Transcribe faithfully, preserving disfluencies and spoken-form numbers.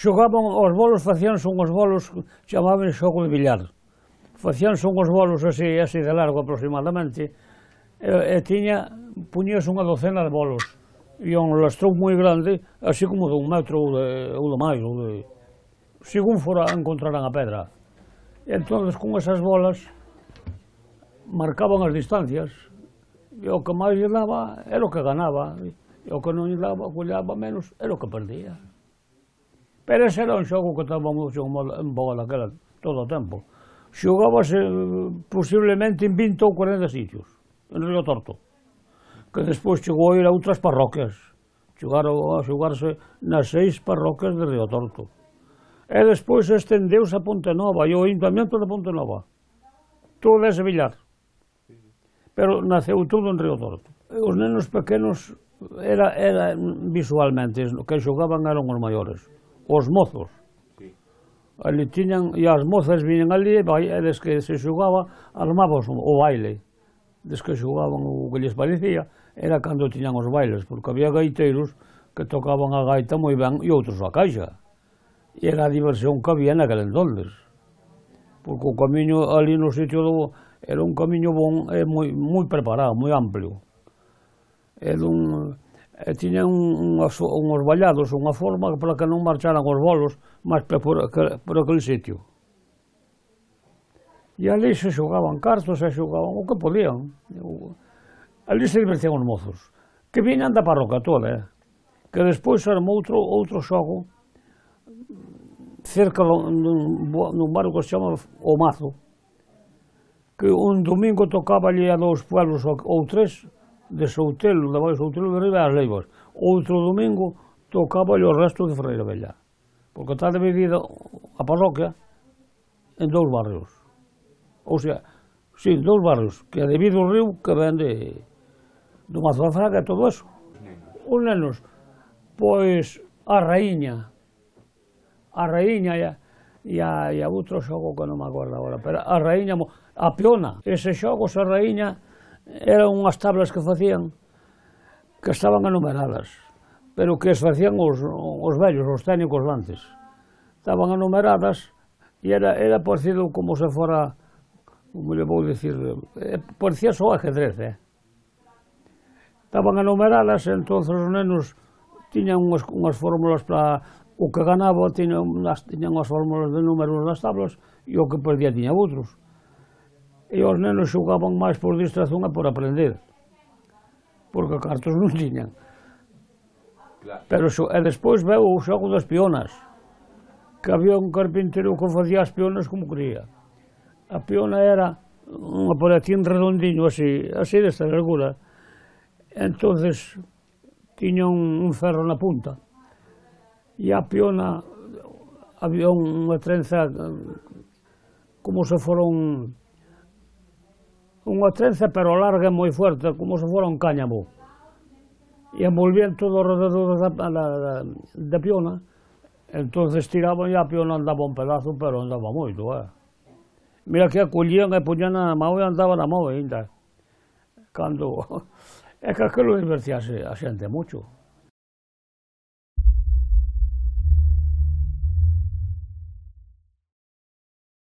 Xogaban, os bolos facíanse unhos bolos, chamaban xogo de billar. Facíanse unhos bolos así, así de largo aproximadamente, e, e tiña, puñíase unha docena de bolos. E un lastrón moi grande, así como de un metro ou de, ou de máis, ou de... según fora encontraran a pedra. E entón, con esas bolas, marcaban as distancias, e o que máis lle daba era o que ganaba, e o que non lle daba, o que lle daba menos, era o que perdía. Pero ese era un xogo que estaba moito en boga daquela, todo o tempo. Xogábase posiblemente en vinte ou cuarenta sitios, en Río Torto, que despois chegou a ir a outras parroquias, chegaron a xogarse nas seis parroquias de Río Torto. E despois estendeuse a Ponte Nova e o Ayuntamiento de Ponte Nova, todo ese billar, pero naceu todo en Río Torto. Os nenos pequenos, era, era visualmente, que xogaban eran os maiores, os mozos. Ali tiñan, e as mozas viñan ali, e des que se xogaba, armabas o baile. Des que xogaban o que lles parecía, era cando tiñan os bailes, porque había gaiteiros que tocaban a gaita moi ben e outros a caixa. E era a diversión que había naquele entonces. Porque o camiño ali no sitio do, era un camiño bon e moi, moi preparado, moi amplio. Era un... e tiñan unhos, unhos vallados, unha forma para que non marcharan os bolos máis por, por aquel sitio. E ali se xogaban cartos, se xogaban o que podían. Ali se divertían os mozos, que viñan da parroquia toda, eh? Que despois armou outro, outro xogo cerca dun, dun barrio que se chama O Mazo, que un domingo tocaba ali a dous pueblos ou tres, de Soutelo, de Baixo Soutelo de Riba as Leivas. Outro domingo tocaba o resto de Ferreira Bella, porque está dividida a parroquia en dous barrios. Ou sea, sí, dous barrios, que é de Vido Río, que ven de do Mazo da Fraga e todo eso. Os nenos, pois, a raíña, a raíña e a, e a, e a outro xogo que non me acordo agora, pero a raíña, a piona, ese xogo, a raíña, eran unhas tablas que facían que estaban enumeradas, pero que as facían os, os vellos, os técnicos antes. Estaban enumeradas e era, era parecido como se fora, como le vou dicir, parecía só ajedrez, eh? Estaban enumeradas, e entón os nenos tiñan unhas, unhas fórmulas para o que ganaba, tiñan, tiñan as fórmulas de números das tablas e o que perdía tiña outros. E os nenos xogaban máis por distracción e por aprender, porque cartos non tiñan. Pero e despois veu o xogo das pionas, que había un carpinteiro que facía as pionas como quería. A piona era unha palatín redondiño así, así desta largura. Entonces tiña un, un ferro na punta, e a piona había unha trenza como se fora un unha trenza pero larga e moi fuerte, como se fora un cáñamo, e envolvían todo alrededor da, da, da, da piona. Entonces tiraban e a piona andaba un pedazo, pero andaba moito, eh? Mira que a collían e poñían na mão e andaba na mão ainda. Cando... é que aquilo divertíase a xente moito.